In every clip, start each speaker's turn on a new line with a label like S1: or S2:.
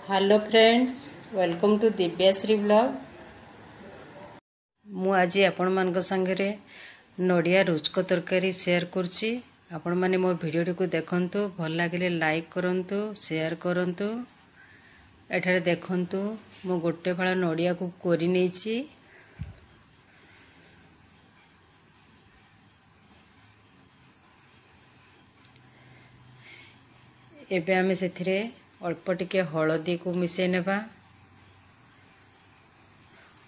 S1: Hello friends, welcome to Dibyashree blog. ମୁଁ ଆଜି ଆପଣମାନଙ୍କ ସାଙ୍ଗରେ ନଡ଼ିଆ ରୁଚକ ତରକାରୀ ସେୟାର କରୁଛି। ଆପଣମାନେ ମୋ ଭିଡ଼ିଓଟିକୁ ଦେଖନ୍ତୁ, ଭଲ ଲାଗିଲେ ଲାଇକ୍ କରନ୍ତୁ, ସେୟାର କରନ୍ତୁ। ଏଠାରେ ଦେଖନ୍ତୁ, ମୁଁ ଗୋଟେ ଫାଳ ନଡ଼ିଆକୁ କୋରି ନେଇଛି। ଏବେ ଆମେ ସେଥିରେ ଅଳ୍ପ ଟିକେ ହଳଦୀକୁ ମିଶାଇ ନେବା,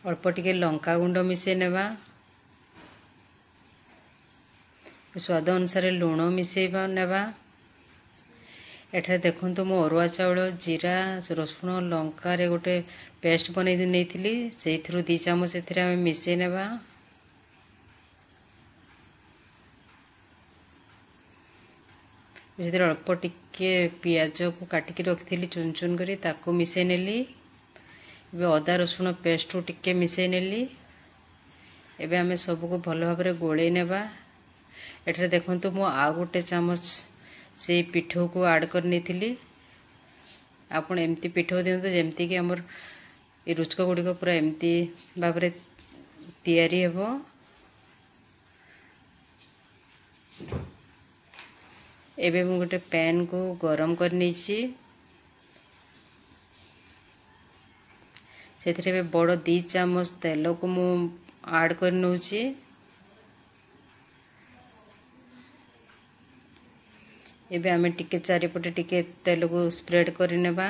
S1: ଅଳ୍ପ ଟିକେ ଲଙ୍କା ଗୁଣ୍ଡ ମିଶାଇ ନେବା, ସ୍ୱାଦ ଅନୁସାରେ ଲୁଣ ମିଶାଇବା ନେବା। ଏଠାରେ ଦେଖନ୍ତୁ, ମୁଁ ଅରୁଆ ଚାଉଳ, ଜିରା, ରସୁଣ, ଲଙ୍କାରେ ଗୋଟେ ପେଷ୍ଟ ବନେଇ ନେଇଥିଲି, ସେଇଥିରୁ 2 ଚାମଚ ଏଥିରେ ଆମେ ମିଶାଇ ନେବା। ସେଥିରେ ଅଳ୍ପ ଟିକେ ପିଆଜକୁ କାଟିକି ରଖିଥିଲି ଚୁନ ଚୁନ କରି, ତାକୁ ମିଶାଇ ନେଲି। ଏବେ ଅଦା ରସୁଣ ପେଷ୍ଟରୁ ଟିକେ ମିଶାଇ ନେଲି। ଏବେ ଆମେ ସବୁକୁ ଭଲ ଭାବରେ ଗୋଳେଇ ନେବା। ଏଠାରେ ଦେଖନ୍ତୁ, ମୁଁ ଆଉ ଗୋଟେ ଚାମଚ ସେଇ ପିଠଉକୁ ଆଡ଼୍ କରି ନେଇଥିଲି। ଆପଣ ଏମିତି ପିଠଉ ଦିଅନ୍ତୁ ଯେମିତିକି ଆମର ଏ ରୁଚକ ଗୁଡ଼ିକ ପୁରା ଏମିତି ଭାବରେ ତିଆରି ହେବ। ଏବେ ମୁଁ ଗୋଟେ ପ୍ୟାନ୍କୁ ଗରମ କରି ନେଇଛି। ସେଥିରେ ଏବେ ବଡ଼ 2 ଚାମଚ ତେଲକୁ ମୁଁ ଆଡ଼୍ କରି ନେଉଛି। ଏବେ ଆମେ ଟିକେ ଚାରିପଟେ ଟିକେ ତେଲକୁ ସ୍ପ୍ରେଡ଼ କରିନେବା।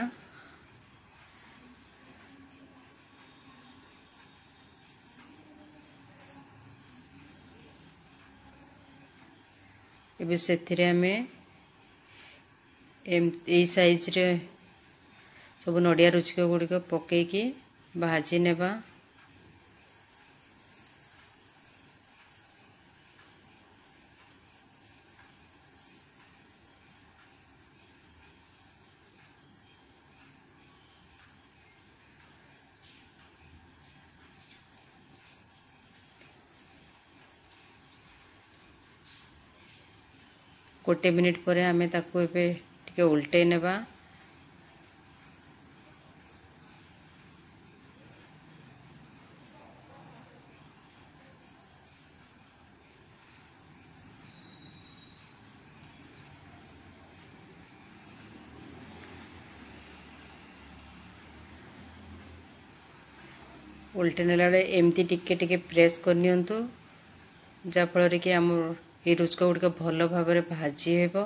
S1: ଏବେ ସେଥିରେ ଆମେ ଏଇ ସାଇଜ୍ରେ ସବୁ ନଡ଼ିଆ ରୁଚିକ ଗୁଡ଼ିକ ପକାଇକି ଭାଜି ନେବା। ଗୋଟେ ମିନିଟ୍ ପରେ ଆମେ ତାକୁ ଏବେ ଟିକେ ଓଲଟେଇ ନେବା। ଓଲଟେଇ ନେଲା ବେଳେ ଏମିତି ଟିକେ ଟିକେ ପ୍ରେସ୍ କରିନିଅନ୍ତୁ, ଯାହାଫଳରେ କି ଆମର ଏଇ ରୁଚକ ଗୁଡ଼ିକ ଭଲ ଭାବରେ ଭାଜି ହେବ।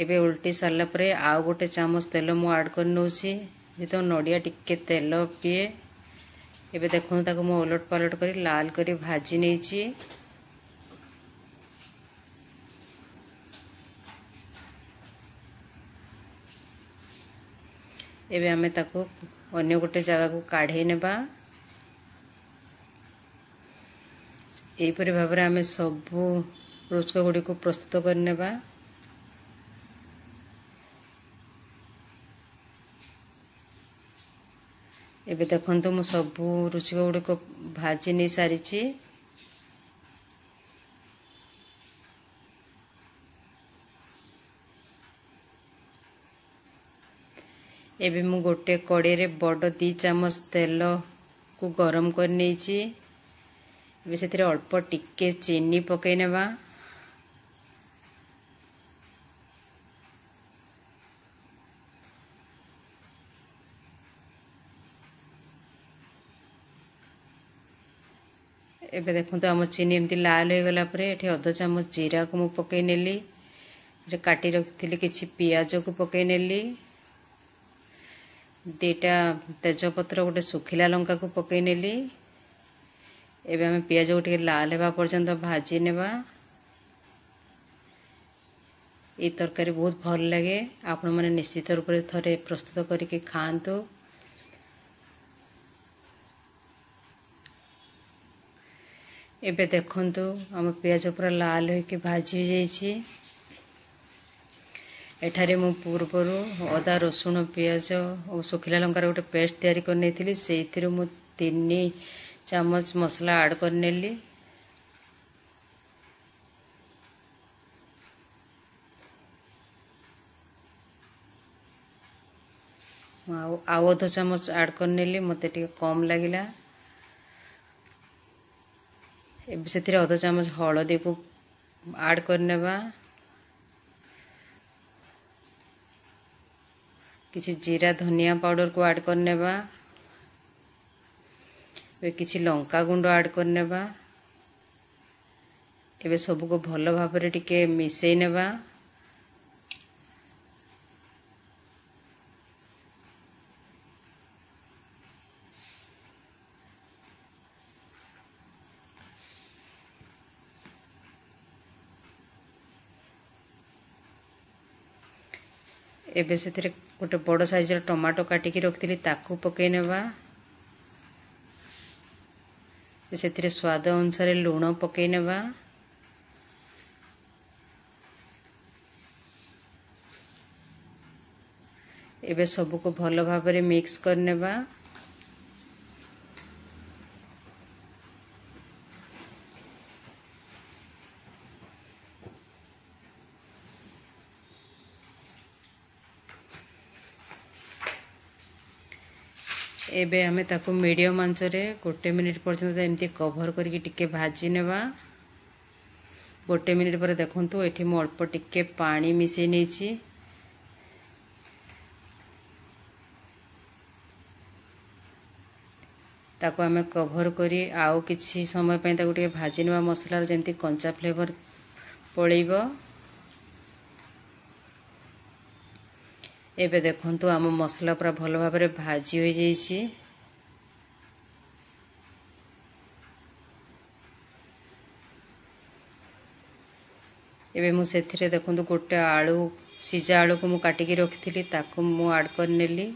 S1: ଏବେ ଓଲଟି ସାରିଲା ପରେ ଆଉ ଗୋଟେ ଚାମଚ ତେଲ ମୁଁ ଆଡ଼୍ କରି ନେଉଛି, ଯେହେତୁ ନଡ଼ିଆ ଟିକେ ତେଲ ପିଏ। ଏବେ ଦେଖନ୍ତୁ, ତାକୁ ମୁଁ ଓଲଟ ପାଲଟ କରି ଲାଲ କରି ଭାଜି ନେଇଛି। ଏବେ ଆମେ ତାକୁ ଅନ୍ୟ ଗୋଟେ ଜାଗାକୁ କାଢ଼େଇ ନେବା। ଏହିପରି ଭାବରେ ଆମେ ସବୁ ରୁଚକ ଗୁଡ଼ିକୁ ପ୍ରସ୍ତୁତ କରିନେବା। ଏବେ ଦେଖନ୍ତୁ, ମୁଁ ସବୁ ରୁଚିକ ଗୁଡ଼ିକ ଭାଜି ନେଇ ସାରିଛି। ଏବେ ମୁଁ ଗୋଟେ କଡ଼େଇରେ ବଡ଼ 2 ଚାମଚ ତେଲକୁ ଗରମ କରି ନେଇଛି। ଏବେ ସେଥିରେ ଅଳ୍ପ ଟିକେ ଚିନି ପକାଇ ନେବା। ଏବେ ଦେଖନ୍ତୁ, ଆମ ଚିନି ଏମିତି ଲାଲ ହୋଇଗଲା ପରେ ଏଠି ଅଧ ଚାମଚ ଜିରାକୁ ମୁଁ ପକାଇ ନେଲି। କାଟି ରଖିଥିଲି କିଛି ପିଆଜକୁ ପକାଇ ନେଲି, 2ଟା ତେଜପତ୍ର, ଗୋଟେ ଶୁଖିଲା ଲଙ୍କାକୁ ପକାଇ ନେଲି। ଏବେ ଆମେ ପିଆଜକୁ ଟିକେ ଲାଲ ହେବା ପର୍ଯ୍ୟନ୍ତ ଭାଜି ନେବା। ଏଇ ତରକାରୀ ବହୁତ ଭଲ ଲାଗେ, ଆପଣମାନେ ନିଶ୍ଚିତ ରୂପରେ ଥରେ ପ୍ରସ୍ତୁତ କରିକି ଖାଆନ୍ତୁ। ଏବେ ଦେଖନ୍ତୁ, ଆମ ପିଆଜ ପୁରା ଲାଲ ହୋଇକି ଭାଜି ହୋଇଯାଇଛି। ଏଠାରେ ମୁଁ ପୂର୍ବରୁ ଅଦା, ରସୁଣ, ପିଆଜ ଓ ଶୁଖିଲା ଲଙ୍କାର ଗୋଟେ ପେଷ୍ଟ ତିଆରି କରିନେଇଥିଲି, ସେଇଥିରୁ ମୁଁ 3 ଚାମଚ ମସଲା ଆଡ଼୍ କରିନେଲି। ମୁଁ ଆଉ ଅଧ ଚାମଚ ଆଡ଼୍ କରିନେଲି, ମୋତେ ଟିକେ କମ୍ ଲାଗିଲା। ଏବେ ସେଥିରେ ଅଧ ଚାମଚ ହଳଦୀକୁ ଆଡ଼୍ କରିନେବା। କିଛି ଜିରା ଧନିଆ ପାଉଡ଼ରକୁ ଆଡ଼୍ କରିନେବା। ଏବେ କିଛି ଲଙ୍କା ଗୁଣ୍ଡ ଆଡ଼୍ କରିନେବା। ଏବେ ସବୁକୁ ଭଲ ଭାବରେ ଟିକେ ମିଶାଇ ନେବା। ଏବେ ସେଥିରେ ଗୋଟେ ବଡ଼ ସାଇଜ୍ର ଟମାଟୋ କାଟିକି ରଖିଥିଲି, ତାକୁ ପକାଇ ନେବା। ସେଥିରେ ସ୍ୱାଦ ଅନୁସାରେ ଲୁଣ ପକାଇ ନେବା। ଏବେ ସବୁକୁ ଭଲ ଭାବରେ ମିକ୍ସ କରିନେବା। ଏବେ ଆମେ ତାକୁ ମିଡ଼ିୟମ୍ ଆଞ୍ଚରେ 1 ମିନିଟ୍ ପର୍ଯ୍ୟନ୍ତ ଏମିତି କଭର୍ କରିକି ଟିକେ ଭାଜି ନେବା। 1 ମିନିଟ୍ ପରେ ଦେଖନ୍ତୁ ଏଠି ମୁଁ ଅଳ୍ପ ଟିକେ ପାଣି ମିଶାଇ ନେଇଛି। ତାକୁ ଆମେ କଭର୍ କରି ଆଉ କିଛି ସମୟ ପାଇଁ ତାକୁ ଟିକେ ଭାଜି ନେବା, ମସଲାର ଯେମିତି କଞ୍ଚା ଫ୍ଲେଭର୍ ପଳେଇବ। ଏବେ ଦେଖନ୍ତୁ ଆମ ମସଲା ପୁରା ଭଲ ଭାବରେ ଭାଜି ହୋଇଯାଇଛି। ଏବେ ମୁଁ ସେଥିରେ ଦେଖନ୍ତୁ ଗୋଟେ ଆଳୁ, ସିଝା ଆଳୁକୁ ମୁଁ କାଟିକି ରଖିଥିଲି, ତାକୁ ମୁଁ ଆଡ଼୍ କରିନେଲି।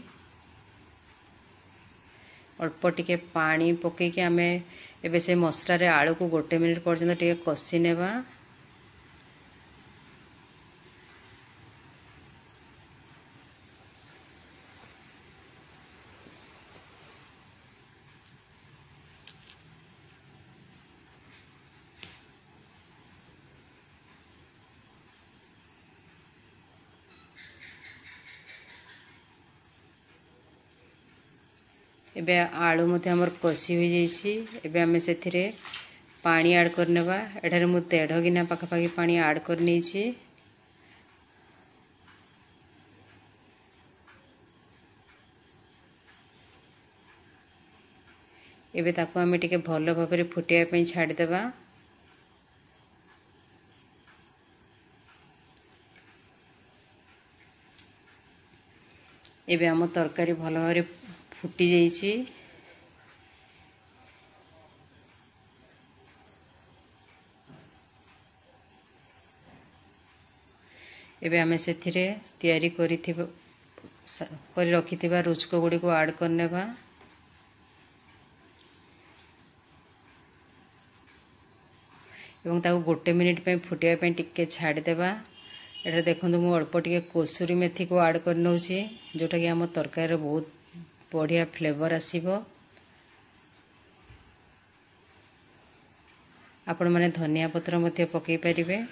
S1: ଅଳ୍ପ ଟିକେ ପାଣି ପକାଇକି ଆମେ ଏବେ ସେ ମସଲାରେ ଆଳୁକୁ 1 ମିନିଟ୍ ପର୍ଯ୍ୟନ୍ତ ଟିକେ କଷି ନେବା। ଏବେ ଆଳୁ ମଧ୍ୟ ଆମର କଷି ହୋଇଯାଇଛି। ଏବେ ଆମେ ସେଥିରେ ପାଣି ଆଡ଼୍ କରିନେବା। ଏଠାରେ ମୁଁ 1.5 ଗିନା ପାଖାପାଖି ପାଣି ଆଡ଼୍ କରିନେଇଛି। ଏବେ ତାକୁ ଆମେ ଟିକେ ଭଲ ଭାବରେ ଫୁଟିବା ପାଇଁ ଛାଡ଼ିଦେବା। ଏବେ ଆମ ତରକାରୀ ଭଲ ଭାବରେ ଫୁଟି ଯାଇଛି। ଏବେ ଆମେ ସେଥିରେ ତିଆରି କରି ରଖିଥିବା ରୁଚକ ଗୁଡ଼ିକୁ ଆଡ଼୍ କରିନେବା। ଏବଂ ତାକୁ 1 ମିନିଟ୍ ପାଇଁ ଫୁଟିବା ପାଇଁ ଟିକେ ଛାଡ଼ିଦେବା। ଏଠାରେ ଦେଖନ୍ତୁ ମୁଁ ଅଳ୍ପ ଟିକେ କସୁରୀ ମେଥିକୁ ଆଡ଼୍ କରିନେଉଛି, ଯେଉଁଟାକି ଆମ ତରକାରୀର ବହୁତ ବଢ଼ିଆ ଫ୍ଲେଭର୍ ଆସିବ। ଆପଣମାନେ ଧନିଆ ପତ୍ର ମଧ୍ୟ ପକାଇ ପାରିବେ।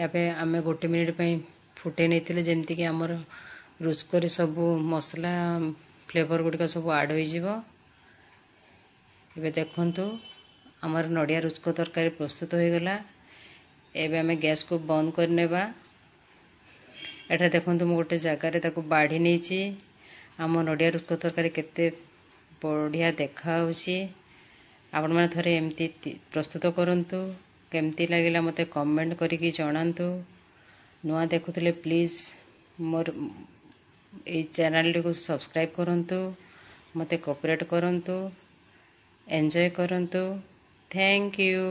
S1: ଏବେ ଆମେ 1 ମିନିଟ୍ ପାଇଁ ଫୁଟେଇ ନେଇଥିଲେ, ଯେମିତିକି ଆମର ରୁଚକରେ ସବୁ ମସଲା ଫ୍ଲେଭର୍ ଗୁଡ଼ିକ ସବୁ ଆଡ଼୍ ହୋଇଯିବ। ଏବେ ଦେଖନ୍ତୁ ଆମର ନଡ଼ିଆ ରୁଚକ ତରକାରୀ ପ୍ରସ୍ତୁତ ହୋଇଗଲା। ଏବେ ଆମେ ଗ୍ୟାସ୍କୁ ବନ୍ଦ କରିନେବା। ଏଠାରେ ଦେଖନ୍ତୁ ମୁଁ ଗୋଟେ ଜାଗାରେ ତାକୁ ବାଢ଼ି ନେଇଛି। ଆମ ନଡ଼ିଆ ରୁଚକ ତରକାରୀ କେତେ ବଢ଼ିଆ ଦେଖାହେଉଛି। ଆପଣମାନେ ଥରେ ଏମିତି ପ୍ରସ୍ତୁତ କରନ୍ତୁ। କେମିତି ଲାଗିଲା ମୋତେ କମେଣ୍ଟ କରିକି ଜଣାନ୍ତୁ। ନୂଆ ଦେଖୁଥିଲେ ପ୍ଲିଜ୍ ମୋର ଏଇ ଚ୍ୟାନେଲଟିକୁ ସବସ୍କ୍ରାଇବ୍ କରନ୍ତୁ, ମୋତେ କୋପରେଟ୍ କରନ୍ତୁ, ଏନ୍ଜୟ କରନ୍ତୁ। Thank you.